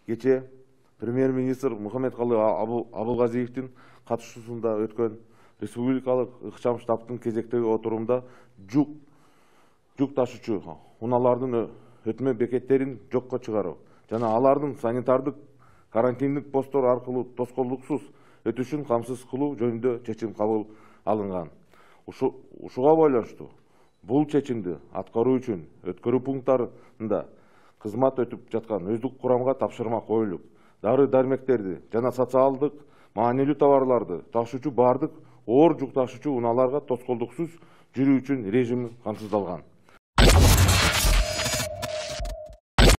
Кече премьер-министр Мухаммедкалый Абылгазиевдин катышуусунда өткөн республикалык ыкчам штабтын кезектеги отурумда жүк ташуучу унаалардын өтмө бекеттерин жокко чыгаруу жана алардын санитардык карантиндик посттор аркылуу тоскоолдуксуз өтүшүн камсыз кылуу жөнүндө чечим кабыл алынган. Ушуга байланыштуу бул чечимди аткаруу үчүн өткөрүү пункттарында кызмат өтүп жаткан өздүк курамга тапшырма коюлуп, дары-дармектерди жана социалдык маанилүү товарларды ташуучу бардык оор жүк ташуучу унааларга тоскоолдуксуз жүрүү үчүн режим камсыздалган.